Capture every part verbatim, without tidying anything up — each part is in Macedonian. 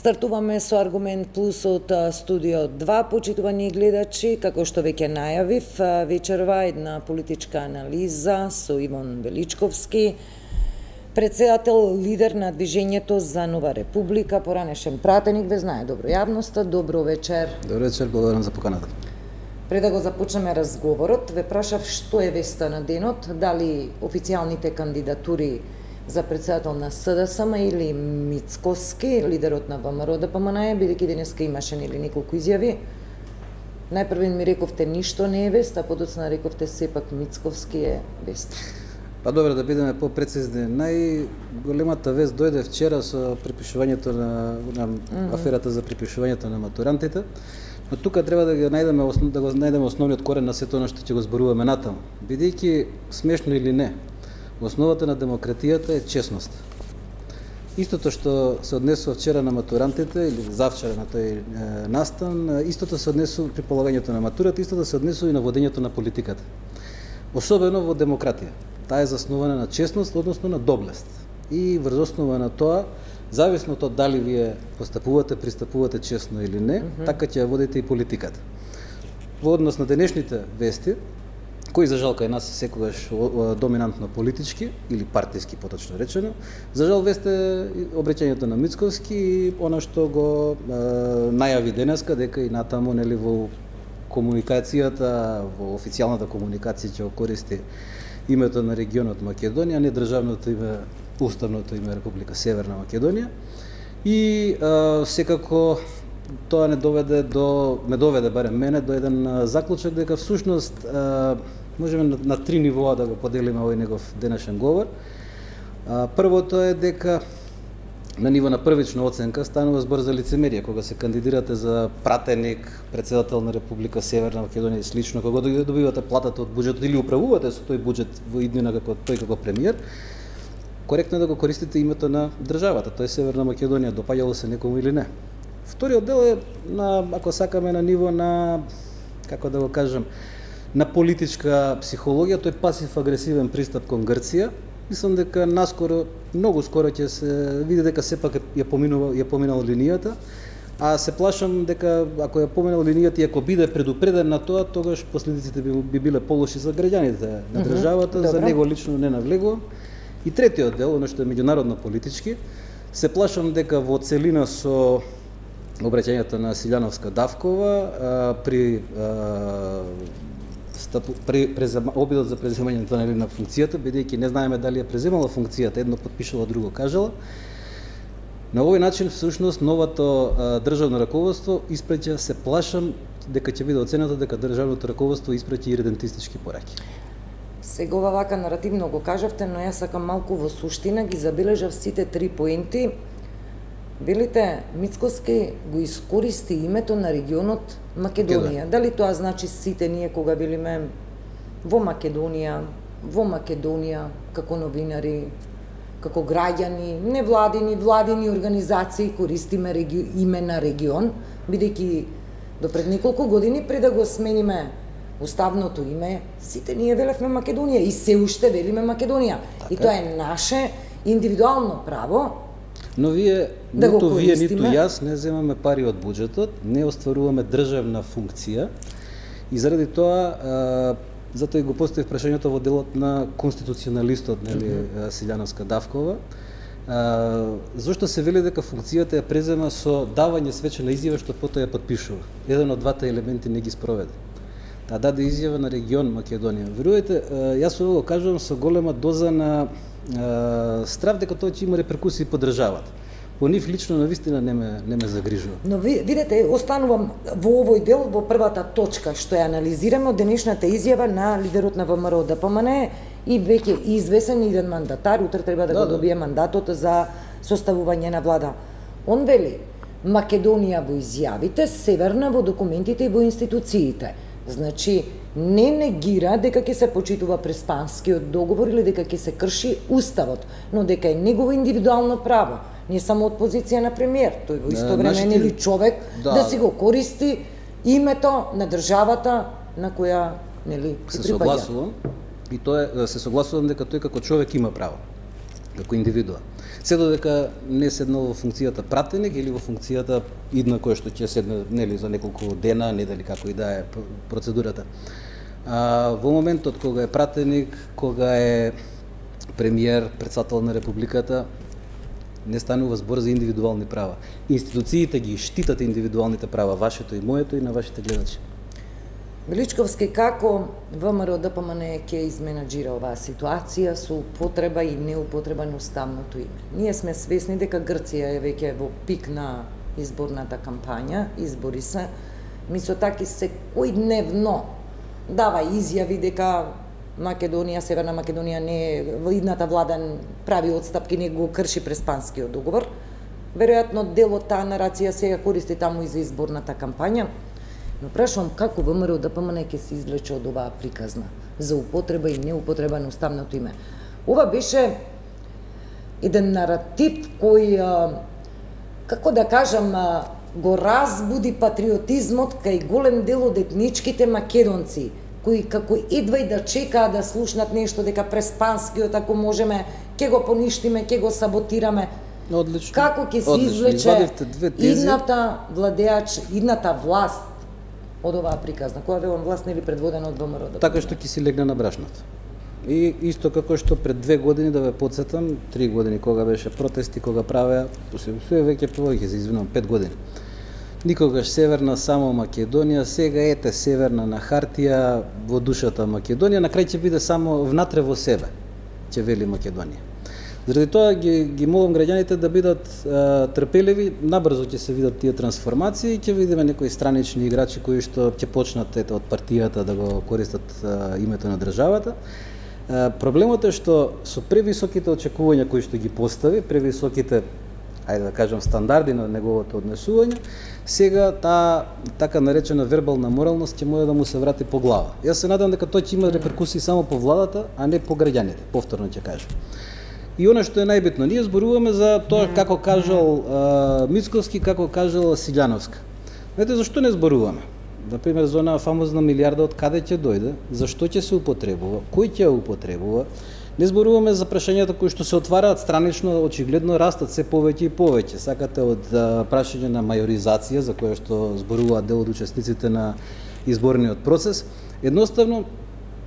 Стартуваме со Аргумент Плюс од студио два, почитувани гледачи, како што веќе најавив, вечерва една политичка анализа со Иван Величковски, председател, лидер на Движењето за нова република, поранешен пратеник, ве знае добро јавноста. Добро вечер. Добро вечер, благодарам за поканата. Пред да го започнеме разговорот, ве прашав што е веста на денот, дали официјалните кандидатури за председател на СДСМ или Мицковски, лидерот на ВМРО Д П М Н, бидејќи денеска имаше нели неколку изјави. Најпрво ми рековте ништо не е вест, а подоцна рековте сепак Мицковски е вест. Па добро, да бидеме попрецизни. Најголемата вест дојде вчера со припишувањето на, на mm -hmm. аферата за припишувањето на матурантите. Но тука треба да го најдеме да го најдеме основниот корен на сето она што ќе го зборуваме натаму. Бидејќи смешно или не, основата на демократијата е честност. Истото што се однесува вчера на матурантите или завчера на тој е, настан, истото се однесува при полагањето на матурата, истото се однесува и на водењето на политиката. Особено во демократија. Таа е заснувана на честност, односно на доблест. И врз основа на тоа, зависно од тоа дали вие постапувате, пристапувате честно или не, mm -hmm. така ќе ја водите и политиката. Во однос на денешните вести, кои за жал кај нас секогаш доминантно политички или партиски поточно речено, за жал весте обреќањето на Мицковски и она што го е, најави денеска дека и натаму нели во комуникацијата, во официјалната комуникација ќе користи името на регионот Македонија, не државното име, уставното име Република Северна Македонија. И е, секако тоа не доведе до ме доведе барем мене до еден заклучок дека всушност е, можеме на, на три нивоа да го поделиме овој негов денешен говор. А, првото е дека на ниво на првична оценка станува збор за лицемерие, кога се кандидирате за пратеник, председател на Република Северна Македонија и слично, кога добивате платата од буџетот или управувате со тој буџет во иднина како тој како премиер, коректно е да го користите името на државата, тој Северна Македонија, допаѓало се некому или не. Вториот дел е на, ако сакаме, на ниво на, како да го кажам, на политичка психологија, тој пасив-агресивен пристап кон Грција. Мислам дека наскоро, многу скоро ќе се види дека сепак ја поминува, ја поминал линијата, а се плашам дека ако ја поминал линијата и ако биде предупреден на тоа, тогаш последиците би, би биле полоши за граѓаните на државата, mm -hmm. за него лично не навлегувам. И третиот дел, оно што е меѓународно политички, се плашам дека во целина со обраќањето на Силјановска Давкова а, при а, стапу, при презема, обидот за преземањето на, на функцијата, бидејќи не знаеме дали ја преземала функцијата, едно подпишала, друго кажала. На овој начин всушност новото а, државно раководство испраќа, се плашам дека ќе биде оценето дека државното раководство испраќа иридентистички пораки. Сега ова вака наративно го кажавте, но јас сакам малку во суштина ги забележав сите три поенти. Велите, Мицковски го искористи името на регионот Македонија. Да. Дали тоа значи сите ние кога билиме во Македонија, во Македонија, како новинари, како граѓани, невладини, владини организации користиме реги... име на регион, бидејќи до пред неколку години пред да го смениме уставното име, сите ние велевме Македонија и се уште велиме Македонија. Така. И тоа е наше индивидуално право. Но вие, да ниту вие, ниту јас не земаме пари од буџетот, не остваруваме државна функција и заради тоа, а, затоа и го поставив прашањето во делот на конституционалистот, нели, mm -hmm. Силјановска Давкова. А, зошто се вели дека функцијата ја презема со давање свечена изјава што потоа ја подпишува? Еден од двата елементи не ги спроведе. Та даде изјава на регион Македонија. Верувајте, јас ово го кажувам со голема доза на страв дека тоа ќе има реперкусии по државата. По нив лично навистина не ме не ме загрижува. Но ви, видете, останувам во овој дел во првата точка што ја анализираме од денешната изјава на лидерот на ВМРО Д П М Н и веќе извесен еден мандатар, утре треба да, да го добие мандатот за составување на влада. Он вели: Македонија во изјавите, Северна во документите и во институциите. Значи, не негира дека ќе се почитува преспанскиот договор или дека ќе се крши уставот, но дека е негово индивидуално право, не само од позиција на премиер, тој во исто време нашите... или човек да. да си го користи името на државата на која нели се согласувам и тоа е, се согласувам дека тој како човек има право. како индивидуа. Се додека не седнал во функцијата пратеник или во функцијата идна кој што ќе седне нели за неколку дена, не дали како и да е процедурата. А, во моментот кога е пратеник, кога е премиер, председател на републиката, не станува збор за индивидуални права. Институциите ги штитат индивидуалните права, вашето и моето и на вашите гледачи. Величковски, како ВМРО Д П М Н ќе изменаџира оваа ситуација со употреба и неупотреба на уставното име? Ние сме свесни дека Грција е веќе во пик на изборната кампања, избори се. Мицотакис секојдневно дава изјави дека Македонија, Северна Македонија не е, идната влада прави отстапки, не го крши Преспанскиот договор. Веројатно дел од таа нарација сега користи таму и за изборната кампања. Но прашувам како ВМРО Д П М Н ќе се извлече од оваа приказна за употреба и неупотреба на уставното име. Ова беше еден наратив кој, како да кажам, го разбуди патриотизмот кај голем дел од етничките македонци, кои како едва и да чекаа да слушнат нешто дека Преспанскиот, ако можеме, ќе го поништиме, ќе го саботираме. Одлично. Како ќе се извлече идната владеач, идната власт од оваа приказна, која велам власт нели предводена од ВМРО Д П М Н? Така што ќе си легне на брашното. И исто како што пред две години, да ве потсетам, три години кога беше протести, кога правеа, се веќе повеќе се извинувам, пет години. Никогаш северна само Македонија, сега ете северна на хартија, во душата Македонија, на крај ќе биде само внатре во себе, ќе вели Македонија. Заради тоа ги, ги молам граѓаните да бидат а, трпеливи, набрзо ќе се видат тие трансформации и ќе видиме некои странични играчи кои што ќе почнат ете, од партијата да го користат а, името на државата. А, проблемот е што со превисоките очекувања кои што ги постави, превисоките, ајде да кажам, стандарди на неговото однесување, сега таа така наречена вербална моралност ќе може да му се врати по глава. Јас се надам дека тоа ќе има реперкусии само по владата, а не по граѓаните, повторно ќе кажам. И оно што е најбитно, ние зборуваме за тоа како кажал а, Мицковски, како кажал Силјановска. Знаете зашто не зборуваме? Например, за онаа фамозна милиарда од каде ќе дојде, зашто ќе се употребува, кој ќе ја употребува. Не зборуваме за прашањата кои што се отвараат странично, очигледно растат се повеќе и повеќе. Сакате од а, прашање на мајоризација, за кое што зборуваат дел од учесниците на изборниот процес, едноставно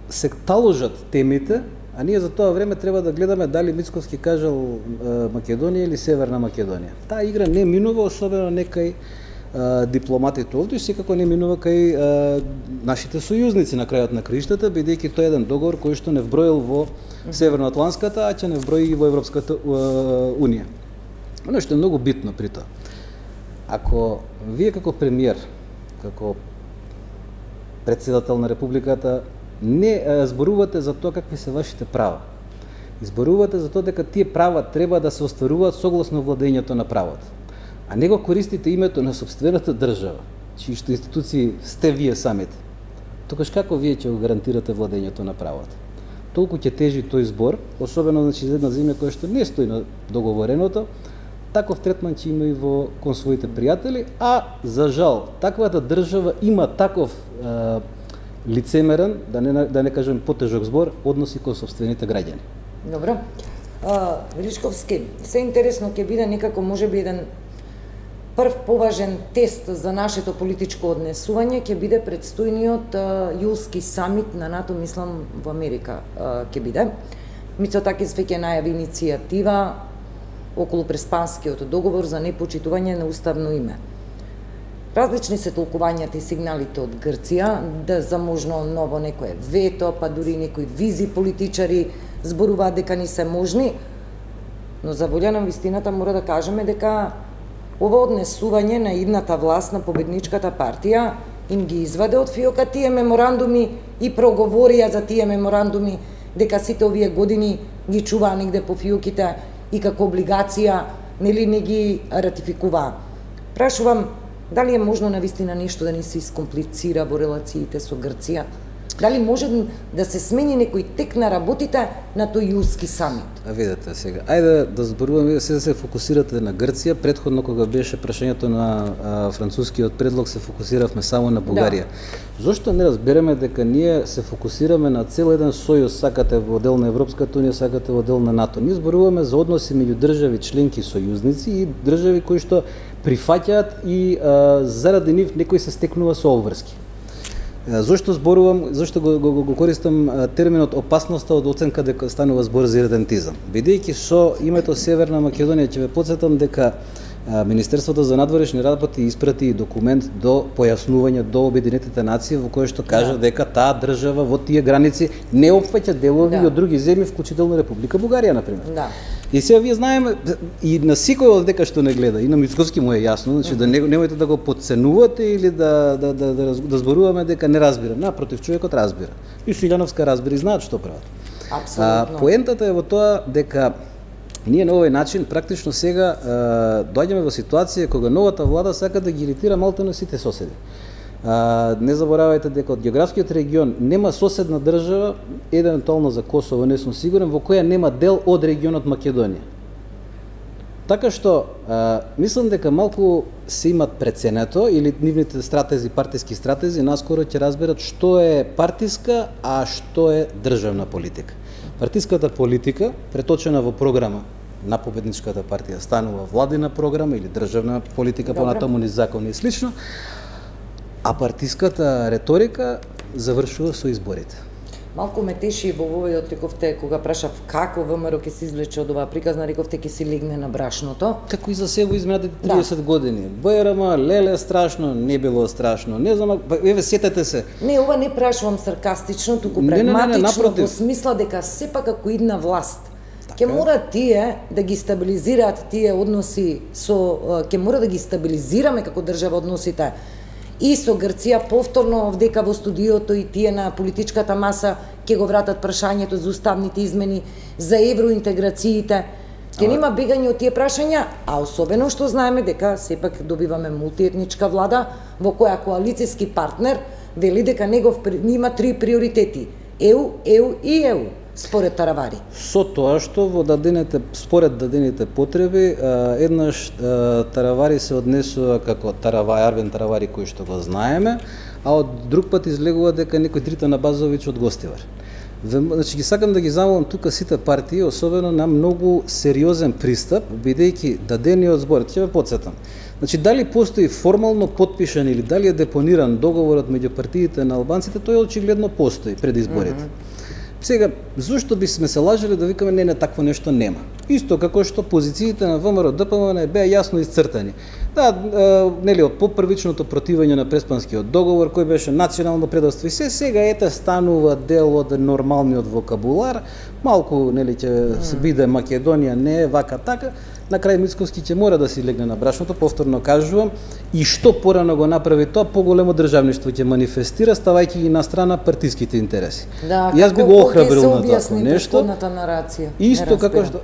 се таложат темите, а ние за тоа време треба да гледаме дали Мицковски кажал е, Македонија или Северна Македонија. Таа игра не минува, особено некај е, дипломатите овде, и секако не минува кај е, нашите сојузници на крајот на краиштата, бидејќи тоа е еден договор кој што не вброил во Северноатланската, а ќе не вброи и во Европската е, унија. Оно што е многу битно при тоа. Ако вие како премиер, како председател на републиката, не зборувате за тоа какви се вашите права. Изборувате за тоа дека тие права треба да се остваруваат согласно владењето на правото. А не го користите името на собствената држава, чии што институции сте вие самите. Тогаш како вие ќе го гарантирате владењето на правото? Толку ќе тежи тој збор, особено значи за една земја која што не стои на договореното, таков третман ќе има и во кон своите пријатели, а за жал таквата држава има таков е, лицемерен, да не, да не кажем потежок збор, односи кон собствените граѓани. Добро. А, Величковски, се интересно ќе биде некако можеби еден прв поважен тест за нашето политичко однесување, ќе биде предстојниот а, јулски самит на НАТО, мислам, во Америка а, ќе биде. Мицотакис веќе најави иницијатива околу Преспанскиот договор за непочитување на уставно име. Различни се толкувањата и сигналите од Грција, да за можно ново некое вето, па дури некои визи политичари зборуваат дека не се можни, но за волја на вистината мора да кажеме дека ова однесување на идната власт на победничката партија им ги изваде од фиока тие меморандуми и проговорија за тие меморандуми дека сите овие години ги чуваа негде по фиоките и како облигација нели не ги ратификуваа. Прашувам, дали е можно навистина нешто да не се искомплицира во релациите со Грција? Дали може да се смени некој тек на работите на тој јулски самит? А видете сега, ајде да зборуваме, се да се фокусирате на Грција. Претходно кога беше прашањето на а, францускиот предлог, се фокусиравме само на Бугарија. Да. Зошто не разбереме дека ние се фокусираме на цел еден сојуз, сакате во дел на Европската унија, сакате во дел на НАТО? Ние зборуваме за односи меѓу држави членки сојузници и држави кои што прифаќаат и а, заради нив некој се стекнува со обврски. Зошто зборувам, зошто го, го, го користам терминот опасноста од оценка дека станува збор за иредентизам? Бидејќи со името Северна Македонија, ќе ве потсетам дека Министерството за надворешни работи испрати документ до појаснување до Обединетите нации во кој што кажа да. дека таа држава во тие граници не опфаќа делови да. од други земји, вклучително Република Бугарија, например. Да. И сега вие знаеме, и на секој од дека што не гледа, и на Мицкоски му е јасно, значи да не, немојте да го подценувате или да, да, да, да, да зборуваме дека не разбира. Напротив, човекот разбира. И Силјановска разбира и знаат што прават. Апсолутно. А, поентата е во тоа дека ние на овој начин практично сега а, доаѓаме во ситуација кога новата влада сака да ги иритира малку на сите соседи. А, не заборавајте дека од географскиот регион нема соседна држава, евентуално за Косово не сум сигурен, во која нема дел од регионот Македонија. Така што, а, мислам дека малку се имат преценето, или нивните стратези, партиски стратези, наскоро ќе разберат што е партиска, а што е државна политика. Партиската политика, преточена во програма на победничката партија, станува владина програма или државна политика, понатаму низ закони и слично, а партиската реторика завршува со изборите. Малку ме теши во овој рековте кога прашав како ВМРО ќе се извлече од оваа приказна, рековте ќе се легне на брашното. Како и за се во изминатите триесет да. години. БРМ, леле страшно, не било страшно. Не знам, еве сетете се. Не, ова не прашувам саркастично, туку прагматично, во смисла дека сепак ако идна власт ќе мора тие да ги стабилизираат тие односи со ќе мора да ги стабилизираме како држава односите и со Грција, повторно вдека во студиото и тие на политичката маса ќе го вратат прашањето за уставните измени, за евроинтеграциите. Ќе нема бегање од тие прашања, а особено што знаеме дека сепак добиваме мултиетничка влада во која коалицијски партнер вели дека негов има три приоритети: Е У, Е У и Е У. Според Таравари. Со тоа што во дадените, според дадените потреби, еднаш Таравари се однесува како Таравари, Арвен Таравари кој што го знаеме, а од друг пат излегува дека некој Дритан Абазовиќ од Гостивар. Значи ги сакам да ги замолам тука сите партии, особено на многу сериозен пристап, бидејќи дадениот збор, ќе ве потсетам. Значи дали постои формално подпишан или дали е депониран договорот меѓу партиите на албанците, тој очигледно постои пред изборите. Mm -hmm. Сега, зошто би сме се лажали да викаме не, не, такво нешто нема? Исто како што позициите на ВМРО Д П М Н беа јасно исцртани. Да, е, нели, од попрвичното противење на Преспанскиот договор, кој беше национално предавство и се, сега ете станува дел од нормалниот вокабулар, малку, нели, ќе се биде Македонија, не е вака така, на крај Мицковски ќе мора да си легне на брашното, повторно кажувам, и што порано го направи тоа, поголемо државништво ќе манифестира, ставајќи ги на страна партиските интереси. Да, јас би го охрабрил на такво нешто. Нарација. Исто како што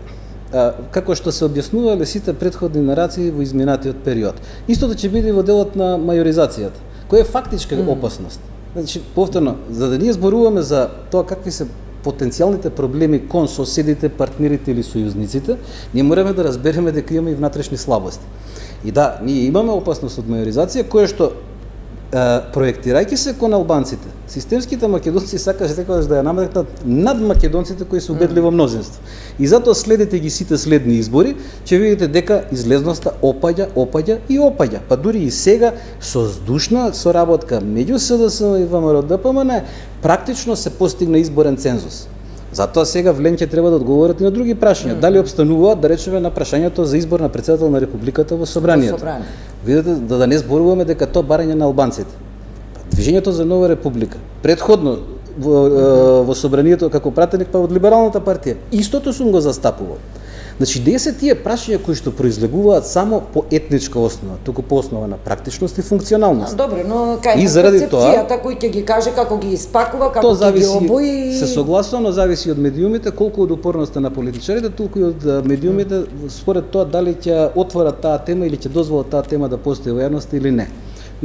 а, како што се објаснувале сите претходни нарации во изминатиот период. Истото ќе биде во делот на мајоризацијата, која е фактичка mm. опасност. Значи, повторно, за да ние зборуваме за тоа какви се потенцијалните проблеми кон соседите, партнерите или сојузниците, ние мораме да разбереме дека имаме и внатрешни слабости. И да, ние имаме опасност од мајоризација, која што е, проектирајќи се кон албанците, системските македонци сакаш секогаш да ја наметнат над македонците кои се убедли во мнозинство. И затоа следите ги сите следни избори, ќе видите дека излезноста опаѓа, опаѓа и опаѓа. Па дури и сега со здушна соработка меѓу С Д С и ВМРО Д П М Н практично се постигна изборен цензус. Затоа сега Вленќе треба да одговорат и на други прашања. Mm. Дали обстануваат, да речеме, на прашањето за избор на председател на Републиката во Собранието. Собрание. Видете, да, да не зборуваме дека тоа барање на албанците. Движењето за нова република, предходно во, mm. во Собранието како пратеник па од Либералната партија, истото сум го застапувал. Значи, де се тие прашања кои што произлегуваат само по етничка основа, туку по основа на практичност и функционалност. Добре, но кај е концепцијата кој ќе ги каже како ги испакува, како ќе ги обои. Се согласувам, но зависи од медиумите, колку од упорноста на политичарите, толку и од медиумите, според тоа дали ќе отворат таа тема или ќе дозволат таа тема да постои во јавноста или не.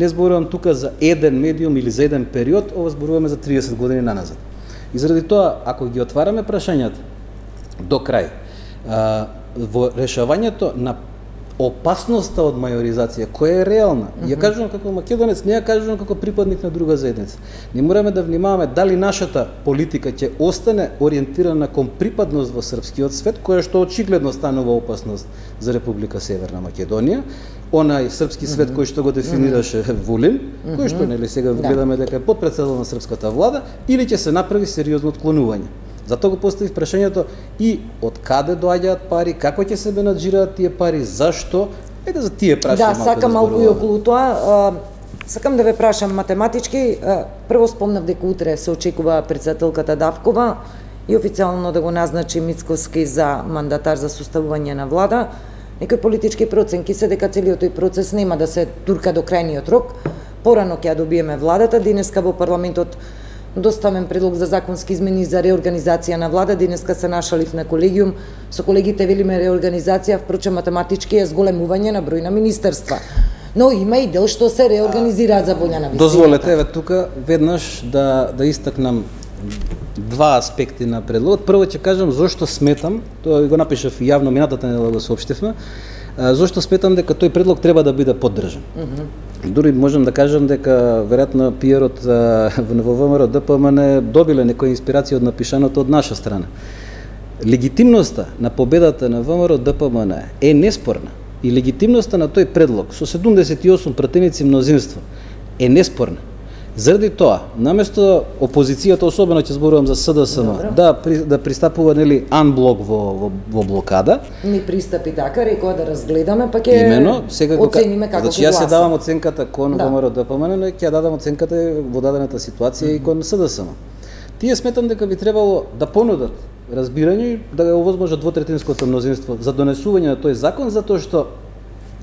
Не зборувам тука за еден медиум или за еден период, ова зборуваме за триесет години наназад. И заради тоа, ако ги отвараме прашањата до крај, а, во решавањето на опасноста од мајоризација, која е реална, mm -hmm. ја кажувам како македонец, не ја кажувам како припадник на друга заедница. Не мораме да внимаваме дали нашата политика ќе остане ориентирана кон припадност во српскиот свет, која што очигледно станува опасност за Република Северна Македонија, онај српски свет mm -hmm. кој што го дефинираше Вулин, mm -hmm. кој што нели сега да. гледаме дека е подпредседател на српската влада, или ќе се направи сериозно отклонување. Затоа го поставив прашањето и од каде доаѓаат пари, како ќе се менаџираат тие пари, зашто? Еде за тие прашања. Да, сакам малку и околу тоа. Сакам да ве прашам математички. Прво спомнав дека утре се очекува претседателката Давкова и официјално да го назначи Мицкоски за мандатар за составување на влада. Некои политички проценки се дека целиот тој процес нема да се турка до крајниот рок. Порано ќе ја добиеме владата. Денеска во парламентот доставен предлог за законски измени за реорганизација на влада. Денеска се нашалив на колегиум. Со колегите велиме реорганизација, впрочем математички е зголемување на број на министерства. Но има и дел што се реорганизираат за волја на вистината. Дозволете еве тука веднаш да да истакнам два аспекти на предлогот. Прво ќе кажам зошто сметам, тоа го напишав и јавно минатата недела го соопштивме, зошто сметам дека тој предлог треба да биде поддржан. Mm -hmm. Дури можам да кажам дека веројатно пиерот во ВМРО ДПМН добиле некоја инспирација од напишаното од наша страна. Легитимноста на победата на ВМРО ДПМН е неспорна и легитимноста на тој предлог со седумдесет и осум пратеници мнозинство е неспорна. Заради тоа, наместо опозицијата, особено ќе зборувам за СДСМ, да да пристапува нели анблок во во, во блокада, ни пристапи така, рекоа да разгледаме, па ќе имено сега оцениме како значи јас ја давам оценката кон да. ВМРО ДПМН, но ќе ја дадам оценката во дадената ситуација mm -hmm. и кон СДСМ. Тие сметам дека би требало да понудат разбирање да го овозможат двотретинското мнозинство за донесување на тој закон, затоа што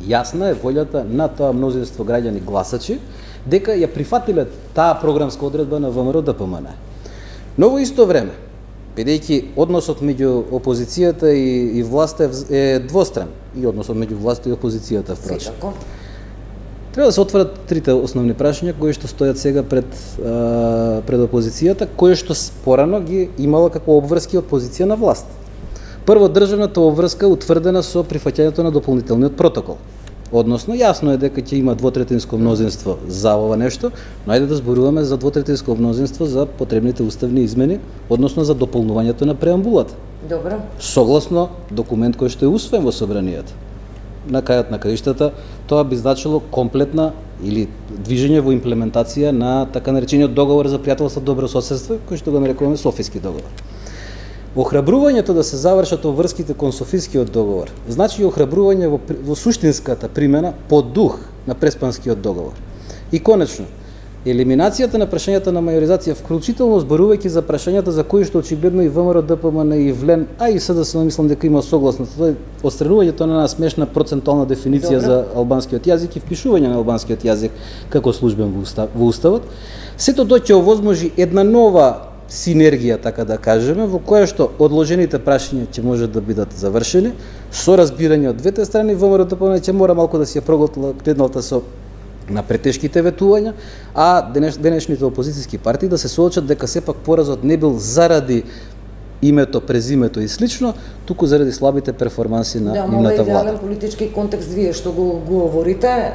јасна е волјата на тоа мнозинство граѓани гласачи дека ја прифатиле таа програмска одредба на ВМРО ДПМН. Но во исто време, бидејќи односот меѓу опозицијата и, и власта е двостран, и односот меѓу власта и опозицијата впрочем. Треба да се отворат трите основни прашања кои што стојат сега пред а, пред опозицијата, кои што порано ги имала како обврски од позиција на власт. Прво, државната обврска утврдена со прифаќањето на дополнителниот протокол. Односно, јасно е дека ќе има двотретинско мнозинство за ова нешто, но ајде да зборуваме за двотретинско мнозинство за потребните уставни измени, односно за дополнувањето на преамбулата. Добро. Согласно документ кој што е усвоен во собранието. На крајот на краиштата, тоа би значило комплетна или движење во имплементација на така наречениот договор за пријателство, добрососедство, кој што го нарекуваме Софијски договор. Охрабрувањето да се завршат обврските кон Софискиот договор значи охрабрување во, во суштинската примена по дух на Преспанскиот договор. И конечно, елиминацијата на прашањата на мајоризација, вклучително зборувајќи за прашањата за кои што очигледно и ВМРО ДПМН и ВЛЕН, а и СДСМ мислам дека има согласност, тоа е отстранувањето на една смешна процентуална дефиниција Добре. за албанскиот јазик и впишување на албанскиот јазик како службен во, устав, во уставот. Сето тоа ќе овозможи една нова синергија, така да кажеме, во која што одложените прашања ќе можат да бидат завршени, со разбирање од двете страни. ВМРО ДПМН ќе мора малку да си ја проглотила кредналта со на претешките ветувања, а денеш, денешните опозицијски партии да се соочат дека сепак поразот не бил заради името, презимето и слично, туку заради слабите перформанси на да, нивната влада. Да, идеален политички контекст вие што го, го говорите,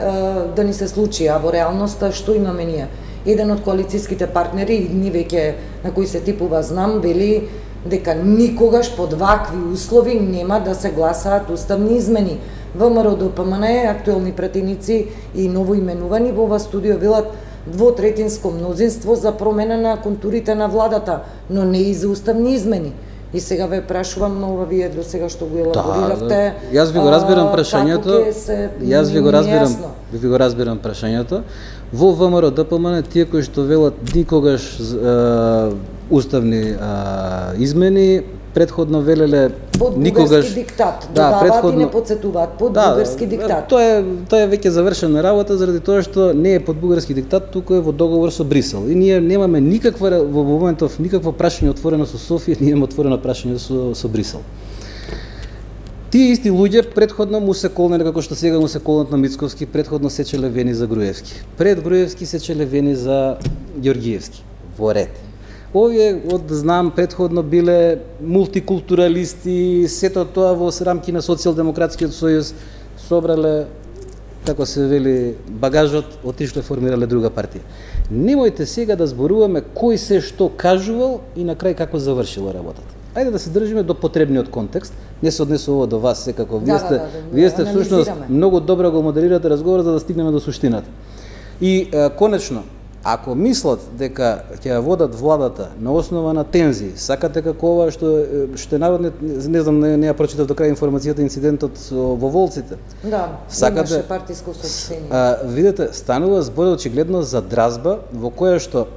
да ни се случи, а во реалноста што имаме ние? Еден од коалицијските партнери, и ни веќе на кои се типува знам, вели дека никогаш под вакви услови нема да се гласаат уставни измени. ВМРО ДПМН, актуелни пратеници и новоименувани во ова студио велат двотретинско мнозинство за промена на контурите на владата, но не и за уставни измени. И сега ве прашувам, но ова вие до сега што го елабориравте. Да, јас ви го разбирам прашањето. Јас ви го разбирам, ви го разбирам прашањето. Во ВМРО ДПМН тие кои што велат никогаш е, уставни е, измени, предходно велеле под никогаш бугарски диктат, да, додаваат предходно... и не подсетуваат под да, бугарски диктат. Тоа е тоа е веќе завршена работа заради тоа што не е под бугарски диктат, туку е во договор со Брисел. И ние немаме никаква во моментов никакво прашање отворено со Софија, ние имаме отворено прашање со со Брисел. Тие исти луѓе предходно му се колнеле, како што сега му се колнат на Мицковски, предходно сечеле вени за Груевски. Пред Груевски сечеле вени за Ѓоргиевски. Во ред. Овие, од знам, предходно биле мултикултуралисти, сето тоа во рамки на Социјалдемократскиот сојуз собрале, како се вели, багажот, отишле формирале друга партија. Немојте сега да зборуваме кој се што кажувал и на крај како завршила работата. Ајде да се држиме до потребниот контекст. Не се однесува до вас секако. Вие сте, да, да, да, вие сте всушност многу добро го модерирате разговорот за да стигнеме до суштината. И е, конечно, ако мислат дека ќе ја водат владата на основа на тензии, сакате како ова што што народниот, не знам, не, не ја прочитав до крај информацијата, инцидентот во Волците. Да, сакате, имаше партиско соопштение. А, видите, станува збор очигледно за дразба во која што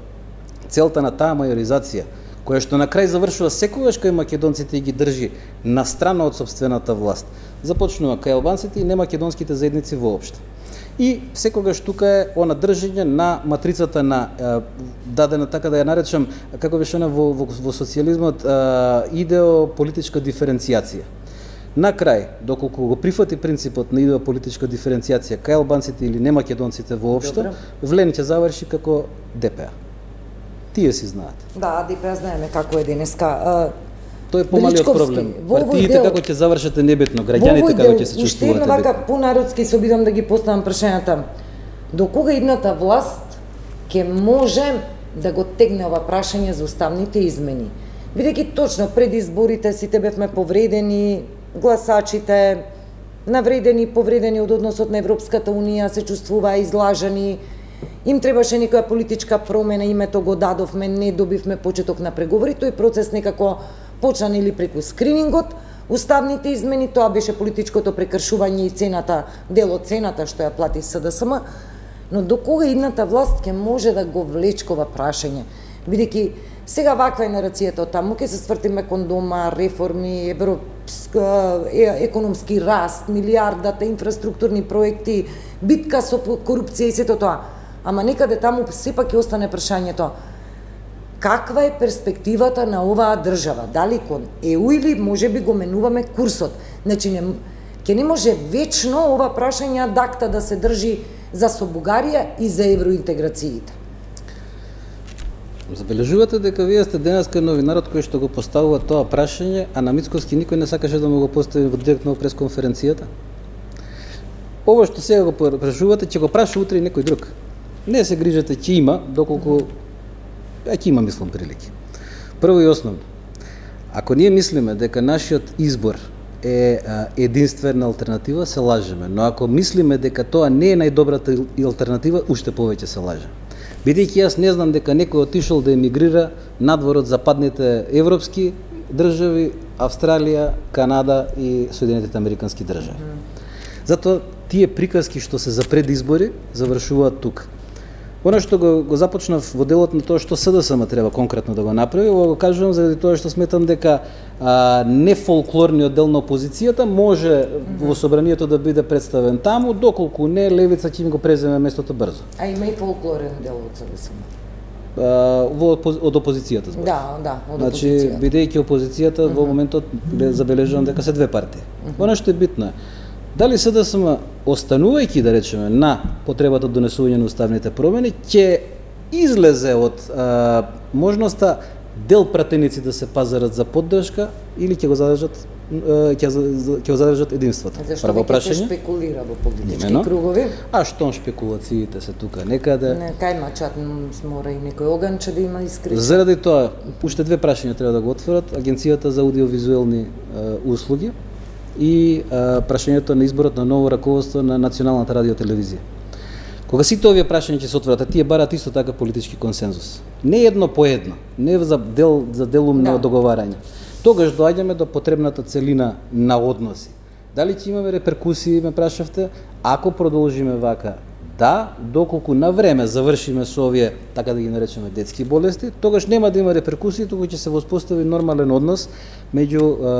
целта на таа мајоризација, која што на крај завршува секогаш кај македонците и ги држи на страна од собствената власт, започнува кај албанците и немакедонските заедници воопшто. И секогаш тука е она држење на матрицата на е, дадена, така да ја наречам, како беше она во, во, во социјализмот, е, идеополитичка диференцијација. На крај, доколку го прифати принципот на идеополитичка диференцијација кај албанците или немакедонците воопшто, влен ќе заврши како ДПА. Тие си знаат. Да, ДПА знаеме како е денеска. Тој е помалиот проблем. Партиите како ќе завршат е небитно, граѓаните како ќе се чувствуваат. Уште едно вака понародски се обидам да ги поставам прашањата. До кога идната власт ќе може да го тегне ова прашање за уставните измени? Бидејќи точно пред изборите сите бевме повредени, гласачите навредени, повредени од односот на Европската унија, се чувствуваа излажани. Им требаше некоја политичка промена, името го дадовме, не добивме почеток на преговори, тој процес некако почна или преку скринингот, уставните измени, тоа беше политичкото прекршување и цената, дел од цената што ја плати СДСМ, но до кога идната власт ќе може да го влечкова прашање? Бидејќи сега ваква е нарацијата од таму, ќе се свртиме кон дома, реформи, европска, економски раст, милијардата, инфраструктурни проекти, битка со корупција и сето тоа. Ама некаде таму сепак ќе остане прашањето: каква е перспективата на оваа држава? Дали кон ЕУ или може би го менуваме курсот? Значи, не, ќе не може вечно ова прашање ad acta да се држи за со Бугарија и за евроинтеграциите. Забележувате дека вие сте денеска новинарот кој што го поставува тоа прашање, а на Мицковски никој не сакаше да му го постави во директно пресконференцијата? Ова што сега го прашувате, ќе го праша утре и некој друг. Не се грижете, ќе има, доколку ќе има, мислам, прилики. Прво и основно, ако ние мислиме дека нашиот избор е единствена алтернатива, се лажеме. Но ако мислиме дека тоа не е најдобрата алтернатива, уште повеќе се лажеме. Бидејќи јас не знам дека некој отишол да емигрира надвор од западните европски држави, Австралија, Канада и Соединетите американски држави. Затоа тие приказки што се за предизбори завршуваат тука. Оно што го, го започнав во делот на тоа што СДСМ треба конкретно да го направи, ова го кажувам заради тоа што сметам дека а, не фолклорниот дел на опозицијата може mm-hmm. во собранието да биде представен таму, доколку не левица ќе им го преземе местото брзо. А има и фолклорен дел од СДСМ. А, во од опозицијата збор. Да, да, од значи, опозицијата. Значи, бидејќи опозицијата mm-hmm. во моментот забележувам дека се две партии. Mm-hmm. Оно што е битно е, дали СДСМ, останувајќи, да речеме, на потребата од донесување на уставните промени, ќе излезе од а, можноста дел пратеници да се пазарат за поддршка или ќе го задржат ќе ќе го задржат единството. Зашто веќе се шпекулира во политички кругови? А што шпекулациите се тука некаде? Не, кај мачат мора и некој оганче да има искрено. Заради тоа, уште две прашања треба да го отворат Агенцијата за аудиовизуелни а, услуги и а, прашањето на изборот на ново раководство на Националната радиотелевизија. Кога сите овие прашања ќе се отворат, тие барат исто така политички консензус. Не едно по едно, не за дел за делумно да. договарање. Тогаш доаѓаме до потребната целина на односи. Дали ќе имаме реперкусии, ме прашавте, ако продолжиме вака? Да, доколку на време завршиме со овие, така да ги наречеме, детски болести, тогаш нема да има реперкусии, туку ќе се воспостави нормален однос меѓу е,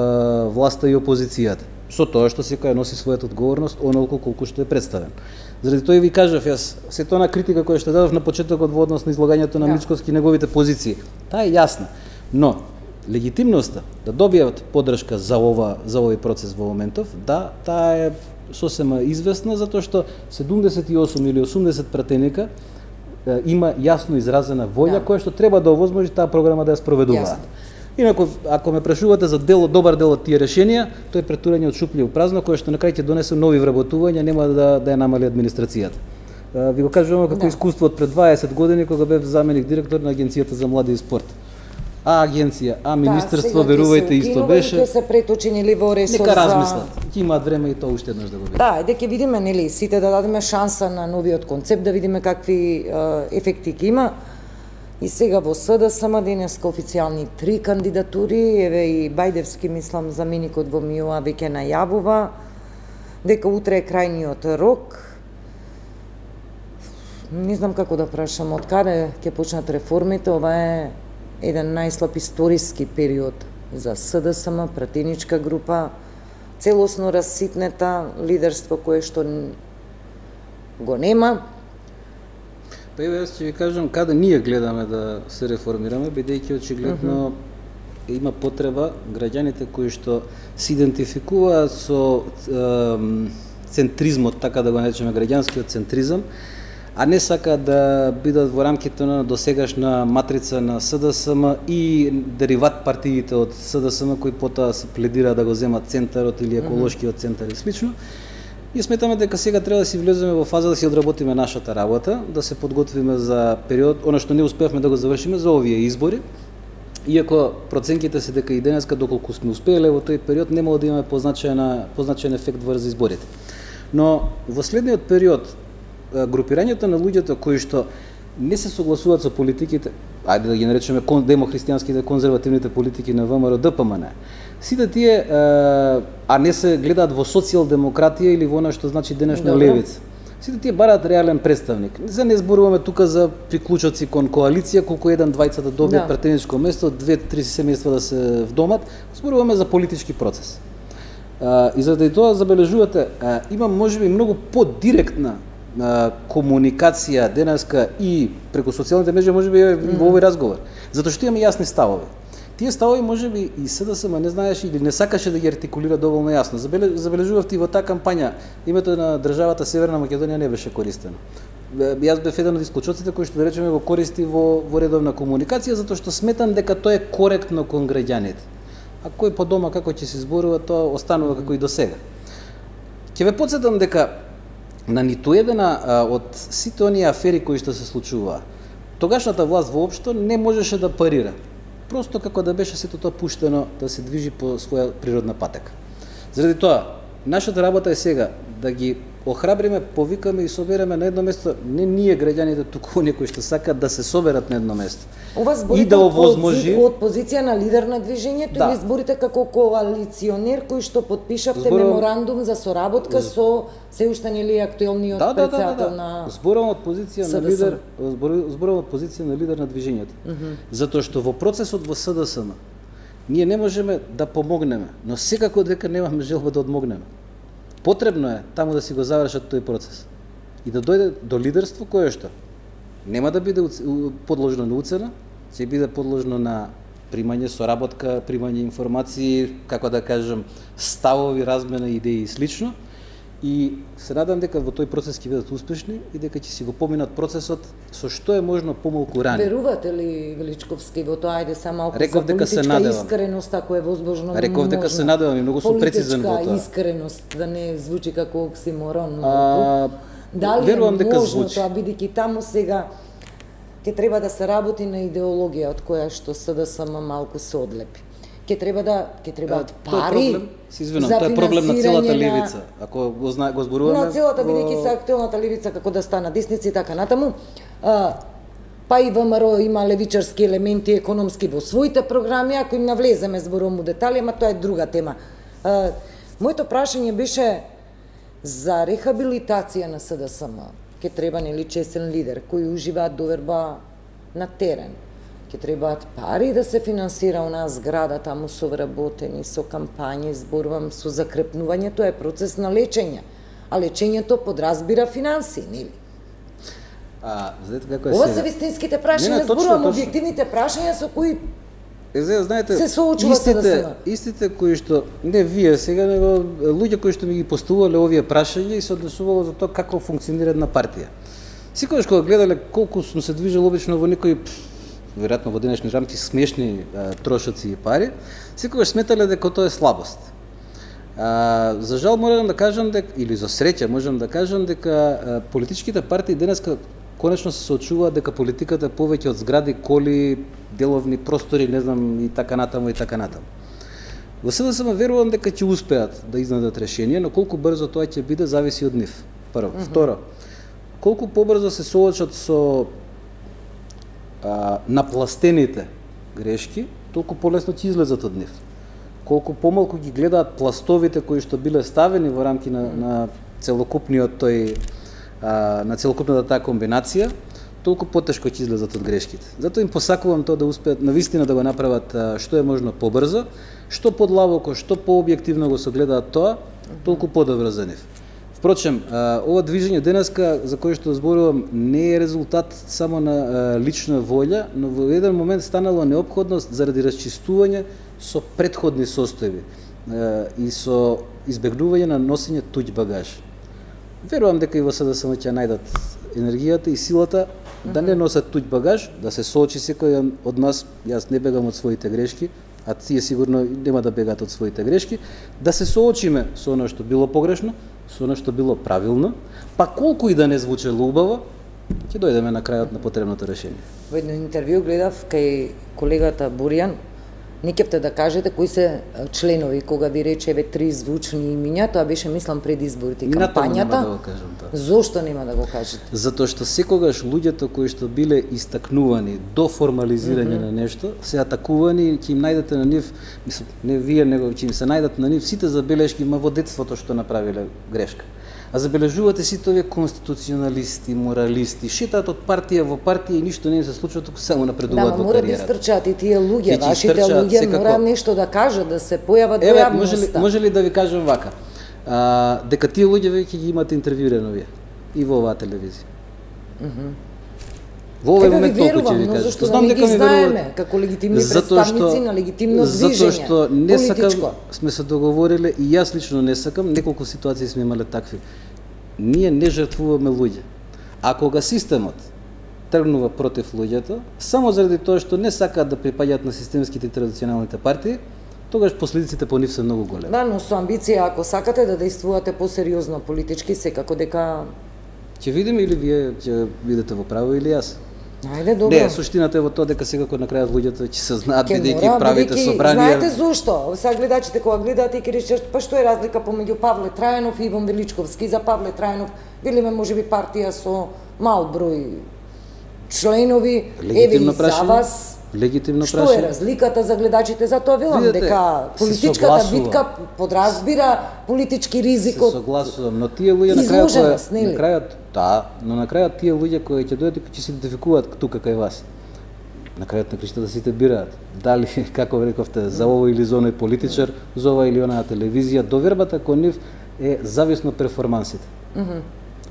власта и опозицијата. Со тоа што секој носи својата одговорност, онолку колку што е представен. Заради тоа и ви кажав јас, сето на критика која што дадов на почетокот во однос на излагањето на Мицковски и неговите позиции, таа е јасна. Но легитимноста да добијат поддршка за ова за овој процес во моментов, да, таа е сосема известна затоа што седумдесет и осум или осумдесет пратеника е, има јасно изразена волја да. Која што треба да овозможи таа програма да ја спроведуваат. Инаку, ако ме прашувате за дел, добар дел од тие решенија, тој претурање од шуплje у празно, кое што на крај ќе донесе нови вработувања, нема да, да ја намали администрацијата. Ви го кажувам како да. Искуство од пред дваесет години, кога бев заменик директор на Агенцијата за млади и спорт. А агенција, а министерство, да, верувајте, исто беше. Ќе се преточени ли во ресор за... Нека размислат. Ќе имаат време и тоа уште еднаш да го видат. Да, еде ќе видиме, нели, сите да дадеме шанса на новиот концепт, да видиме какви е, ефекти ќе има. И сега во СДСМ денеска официјални три кандидатури, еве и Бајдевски, мислам, заменикот во МИОА веќе најавува дека утре е крајниот рок. Не знам како да прашам, од каде ќе почнат реформите, ова е еден најслаб историски период за СДСМ, пратеничка група, целосно расситнета, лидерство кое што го нема. Па еве јас ќе ви кажам каде ние гледаме да се реформираме, бидејќи очигледно uh -huh. има потреба граѓаните кои што се идентификуваат со е, центризмот, така да го наречеме граѓанскиот центризам, а не сака да бидат во рамките на досегашна матрица на СДСМ и дериват партиите од СДСМ кои потоа се пледира да го земат центарот или еколошкиот центар и слично. И сметаме дека сега треба да си влеземе во фаза да си одработиме нашата работа, да се подготвиме за период, она што не успеавме да го завршиме за овие избори. Иако проценките се дека и денеска доколку сме успееле во тој период немало да имаме позначаен позначаен ефект врз изборите. Но во следниот период групирањето на луѓето кои што не се согласуваат со политиките, ајде да ги наречеме демохристијанските конзервативните политики на ВМРО Д П М Н, сите тие, а не се гледаат во социјалдемократија или во она што значи денешна Добре. левица. Сите тие бараат реален представник. За не зборуваме тука за приклучоци кон коалиција, колку еден двајца да добијат да. претеничко место, две-три семејства да се вдомат, зборуваме за политички процес. И заради тоа забележувате, има можеби многу подиректна комуникација денеска и преку социјалните мрежи, можеби и во овој разговор, затоа што имаме јасни ставови. Тие ставови можеби и СДСМ не знаеше или не сакаше да ги артикулира доволно јасно. Забележувавте и во таа кампања името на државата Северна Македонија не беше користено. Јас бев еден од исклучоците кои што да речеме го користи во, во редовна комуникација, затоа што сметам дека тоа е коректно кон граѓаните. А кој по дома како ќе се зборува, тоа останува како и до сега. Ќе ве потсетам дека на ниту едена од сите оние афери кои што се случуваа, тогашната власт воопшто не можеше да парира. Просто како да беше сето тоа пуштено да се движи по своја природна патека. Заради тоа, нашата работа е сега да ги охрабриме, повикаме и собереме на едно место, не ние граѓаните, туку некои што сакаат да се соберат на едно место. Ова зборите да овозможи од позиција на лидер на движењето да. или зборите како коалиционер кој што подпишавте Зборам... меморандум за соработка З... со се уште нели актуелниот да, да, председател да, да, да. на Зборам од позиција на лидер, зборам од позиција на лидер на движењето. Uh -huh. Затоа што во процесот во СДСМ ние не можеме да помогнеме, но секако дека немаме желба да одмогнеме. Потребно е таму да си го завршат тој процес и да дојде до лидерство кое што нема да биде подложено на уцена, ќе биде подложено на примање соработка, примање информации, како да кажам, ставови, размена идеи и слично. И се надам дека во тој процес ќе бидат успешни и дека ќе си го поминат процесот со што е можно помалку рано. Верувате ли, Величковски, во тоа, ајде са малку Реков за дека се политичка надевам. искреност, ако е возможно? Реков дека се надевам и многу сум прецизен во тоа. Политичка искреност, да не звучи како оксиморон. А, Дали верувам е дека можно звучи. тоа, бидејќи таму сега ќе треба да се работи на идеологија од која што СДСМ малку се одлепи. Ќе треба да ќе требаат пари. Се извинувам, тоа е проблем на целата левица. Ако го зна, го зборуваме на целата бидејќи се актуелната левица како да стана десница и така натаму. А, па и ВМРО има левичарски елементи економски во своите програми, ако им навлеземе зборувам у детали, ама тоа е друга тема. А, моето прашање беше за рехабилитација на СДСМ. Ќе треба нели честен лидер кој ужива доверба на терен. Ќе требаат пари да се финансира онаа зграда таму со вработени, со кампањи, зборувам со закрепнување, тоа е процес на лечење. А лечењето подразбира финанси, нели? А, знаете како е Ова сега? се вистинските прашања, зборувам објективните прашања со кои Е, знаете, се соочува се да се. Истите кои што не вие сега, него луѓе кои што ми ги поставувале овие прашања и се однесувало за тоа како функционира една партија. Секогаш кога гледале колку сум се движел обично во некои веројатно во денешни рамки смешни а, трошоци и пари, секогаш сметале дека тоа е слабост. А, за жал морам да кажам дека, или за среќа можам да кажам дека а, политичките партии денеска конечно се соочуваат дека политиката е повеќе од згради, коли, деловни простори, не знам, и така натаму и така натаму. Во СДСМ верувам дека ќе успеат да изнадат решение, но колку брзо тоа ќе биде зависи од нив. Прво, mm -hmm. Второ, колку побрзо се соочат со а, напластените грешки, толку полесно ќе излезат од нив. Колку помалку ги гледаат пластовите кои што биле ставени во рамки на, на целокупниот тој а, на целокупната таа комбинација, толку потешко ќе излезат од грешките. Затоа им посакувам тоа да успеат навистина да го направат а, што е можно побрзо, што подлабоко, што пообјективно го согледаат тоа, толку подобро за нив. Впрочем, а, ова движење денеска за кое што зборувам не е резултат само на а, лична волја, но во еден момент станало неопходност заради расчистување со претходни состојби а, и со избегнување на носење туѓ багаж. Верувам дека и во СДСМ ќе најдат енергијата и силата да не носат туѓ багаж, да се соочи секој од нас. Јас не бегам од своите грешки, а тие сигурно нема да бегаат од своите грешки, да се соочиме со оно што било погрешно, со оно што било правилно, па колку и да не звучело убаво, ќе дојдеме на крајот на потребното решение. Во едно интервју гледав кај колегата Буријан, не кепте да кажете кои се членови, кога ви рече еве три звучни имиња, тоа беше мислам пред изборите и кампањата. Нема да го кажам тоа. Зошто нема да го кажете? Затоа што секогаш луѓето кои што биле истакнувани до формализирање mm -hmm. на нешто, се атакувани и ќе им најдете на нив, мислам, не вие, него ќе им се најдат на нив сите забелешки, ма во детството што направиле грешка. А забележувате сите овие конституционалисти, моралисти, шетаат од партија во партија и ништо не им се случува, туку само напредуваат да, во кариерата. Да, мора да истрчаат и тие луѓе, вашите луѓе секако... мора нешто да кажат, да се појават во јавноста. Може ли, може ли да ви кажам вака, а, дека тие луѓе веќе ги имате интервјуирано вие и во оваа телевизија. Mm -hmm. Во овој момент толку ќе ви кажам. Знам да дека ми знаеме како легитимни представници на легитимно движење. Затоа што не сакам, сме се договориле и јас лично не сакам, неколку ситуации сме имале такви. Ние не жртвуваме луѓе. А кога системот тргнува против луѓето, само заради тоа што не сакаат да припаѓаат на системските и традиционалните партии, тогаш последиците по нив се многу големи. Да, но со амбиција, ако сакате да действувате посериозно политички, секако дека ќе видиме или вие ќе бидете во право или јас. Ајде, добро. Не, суштината е во тоа дека секако на крајот луѓето ќе се знаат бидејќи правите собранија. Знаете зошто? Сега гледачите кога гледаат и ќе речат, па што е разлика помеѓу Павле Трајанов и Иван Величковски? За Павле Трајанов билиме можеби партија со мал број членови, еве и за вас. Легитимно Што е разликата за гледачите? Затоа велам дека политичката битка подразбира политички ризик од... Се согласувам, но тие луѓе на крајот, на крајот, да, но на крајот тие луѓе кои ќе дојдат ќе се идентификуваат тука кај вас. На крајот на криштата сите бираат. Дали, како рековте, за овој или за оној политичар, за ова или онаа телевизија, довербата кон нив е зависно перформансите. Mm -hmm.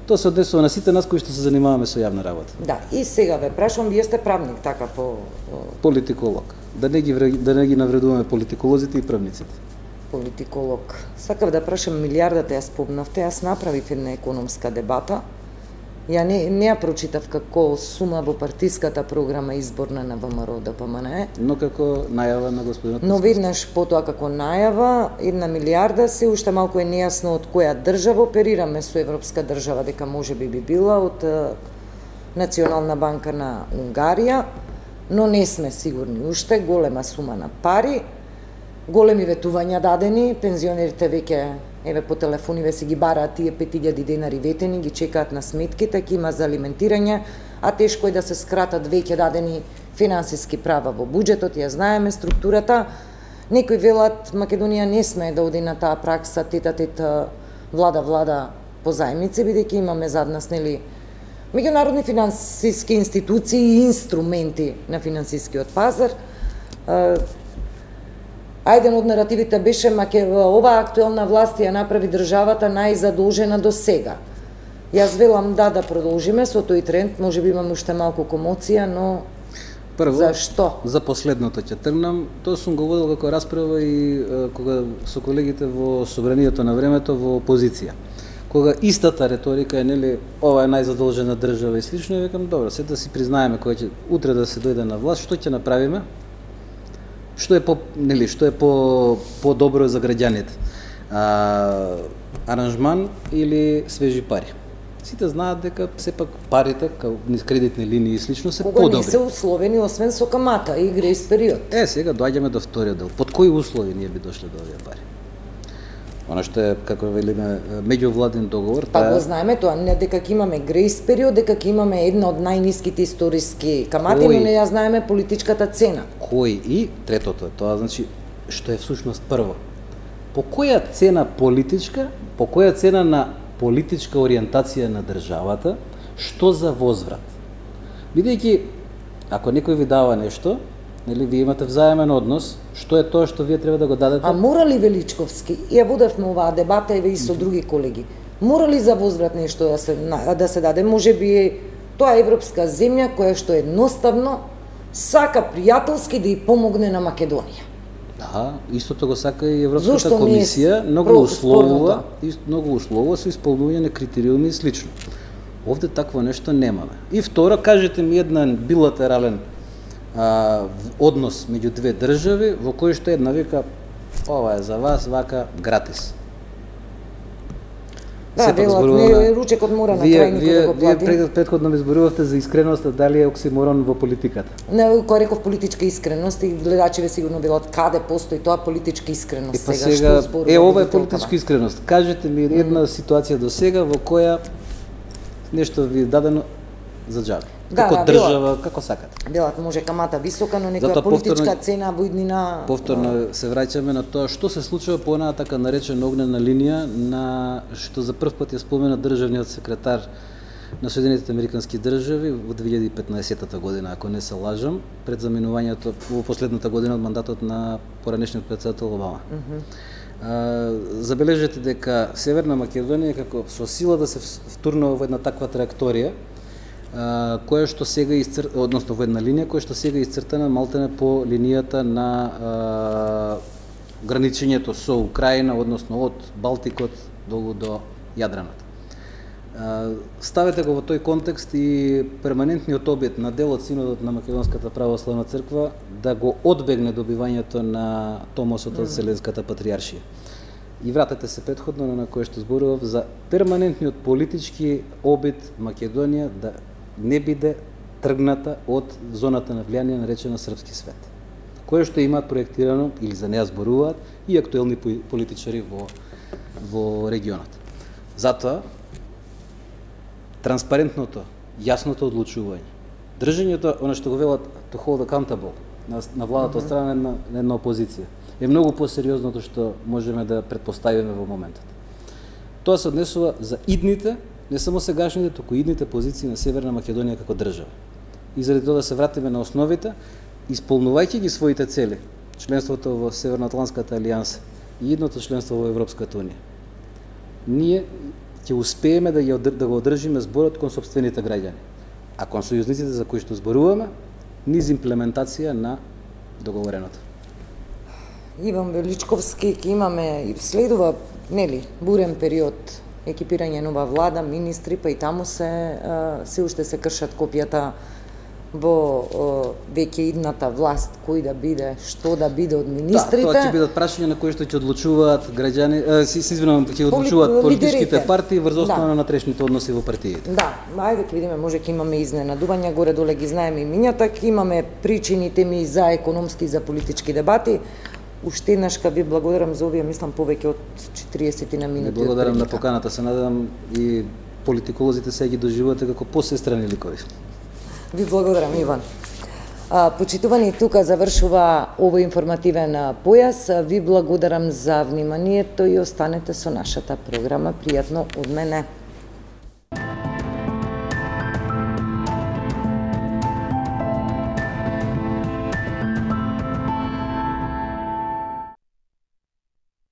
Тоа се однесува на сите нас кои што се занимаваме со јавна работа. Да, и сега ве прашувам, вие сте правник, така по... Политиколог. Да не ги, да не ги навредуваме политиколозите и правниците. Политиколог. Сакав да прашам милијардата, ја спомнавте, јас направив една економска дебата. Ја не, не ја прочитав како сума во партиската програма изборна на ВМРО Д П М Н Е. Но како најава на господинот. Но веднаш потоа како најава, една милијарда се уште малку е нејасно од која држава оперираме со европска држава, дека може би би била од Национална банка на Унгарија, но не сме сигурни уште, голема сума на пари, големи ветувања дадени, пензионерите веќе еве по телефониве си ги бараат тие пет илјади денари ветени, ги чекаат на сметките, ќе има за алиментирање, а тешко е да се скратат веќе дадени финансиски права во буџетот, ја знаеме структурата. Некои велат Македонија не сме да оди на таа пракса тета-тет влада-влада по заемници, бидејќи имаме зад нас, нели, меѓународни финансиски институции и инструменти на финансискиот пазар. А еден од наративите беше маке оваа актуелна власт ја направи државата најзадолжена до сега. Јас велам да, да продолжиме со тој тренд, може би имаме уште малку комоција, но Прво, зашто? За последното ќе тргнам. Тоа сум го водел како расправа и е, кога со колегите во собранието на времето во опозиција. Кога истата реторика е, нели, ова е најзадолжена држава и слично, викам, добро, се да си признаеме кога ќе утре да се дојде на власт, што ќе направиме? Што е по, нели, што е по по-добро за граѓаните? А, аранжман или свежи пари? Сите знаат дека сепак парите, као низ кредитни линии и слично, се Кога подобри. не се условени, освен со камата и грејс период. Е, сега доаѓаме до вториот дел. Под кои услови ние би дошле до овие пари? Она што е, како велиме, меѓувладен договор, Па таа го знаеме тоа, не дека ќе имаме грејс период, дека ќе имаме една од најниските историски камати, Кој? но не ја знаеме политичката цена. кој и третото е тоа, значи што е всушност прво. По која цена политичка, по која цена на политичка ориентација на државата, што за возврат? Бидејќи, ако некој ви дава нешто, нели, вие имате взаемен однос, што е тоа што вие треба да го дадете? А мора ли Величковски, ја водевме оваа дебата еве и со други колеги, мора ли за возврат нешто да се, да се даде? Може би тоа е европска земја која што едноставно сака пријателски да ја помогне на Македонија. Да, истото го сака и Европската Зошто не е комисија, многу про- условува, спорното? ист- многу условува со исполнување на критериуми и слично. Овде такво нешто немаме. И второ, кажете ми еден билатерален а, в- однос меѓу две држави во кој што една вика ова е за вас, вака гратис. Да, Сепак велат, зборуваме- не, ручекот мора на Вие, крај никој вие, да го вие плати. пред- предходно ми зборувавте за искреноста, дали е оксиморон во политиката. Не, кој реков политичка искреност и гледачите сигурно велат каде постои тоа политичка искреност Е, па сега, сега, што зборува е, ова е водителкава? политичка искреност. Кажете ми една mm. ситуација до сега во која нешто ви е дадено за џабе. Да, како да, држава, како сакате. Велат може камата висока, но некоја Затоа политичка повторно- цена во иднина. Повторно се враќаме на тоа што се случува по онаа така наречена огнена линија на што за прв пат ја спомена државниот секретар на Соединетите американски држави во две илјади и петнаесетта година, ако не се лажам, пред заминувањето во последната година од мандатот на поранешниот председател Обама. Mm -hmm. а, забележете дека Северна Македонија како со сила да се втурнува во една таква траекторија, Uh, која што сега изцр... односно во една линија која што сега исцртана малтене по линијата на uh, граничењето со Украина, односно од Балтикот долу до Јадраната. Uh, ставете го во тој контекст и перманентниот обид на дел од Синодот на Македонската православна црква да го одбегне добивањето на томосот од Вселенската патријаршија. И вратете се претходно на кое што зборував за перманентниот политички обид Македонија да не биде тргната од зоната на влијание наречена српски свет, кое што имаат проектирано или за неа зборуваат и актуелни политичари во во регионот. Затоа транспарентното, јасното одлучување, држењето, она што го велат to hold accountable на, на владата од страна на, на една опозиција, е многу посериозното што можеме да предпоставиме во моментот. Тоа се однесува за идните, не само сегашните, туку идните позиции на Северна Македонија како држава. И заради тоа да се вратиме на основите, исполнувајќи ги своите цели, членството во Северноатлантската алијанса и идното членство во Европската унија, ние ќе успееме да, ја, да го одржиме зборот кон сопствените граѓани, а кон сојузниците за кои што зборуваме, низ имплементација на договореното. Иван Величковски ќе имаме и следува, нели, бурен период, екипирање нова влада, министри, па и таму се се уште се кршат копијата во веќе идната власт, кој да биде, што да биде од министрите. Да, тоа ќе бидат прашања на кои што ќе одлучуваат граѓани, е, си се извинувам, ќе одлучуваат Поли- политичките лидерите. партии врз основа Да. на натрешните односи во партиите. Да, ајде ќе видиме, може ќе имаме изненадувања, горе доле ги знаеме имињата, ќе имаме причините ми за економски и за политички дебати. Уште еднаш ка ви благодарам за овие, мислам, повеќе од четириесет на минути. Ви од благодарам на прилика. поканата, се надевам и политиколозите се ги доживувате како посестрани ликови. Ви благодарам, Иван. А, почитувани, тука завршува овој информативен појас. Ви благодарам за вниманието и останете со нашата програма. Пријатно од мене.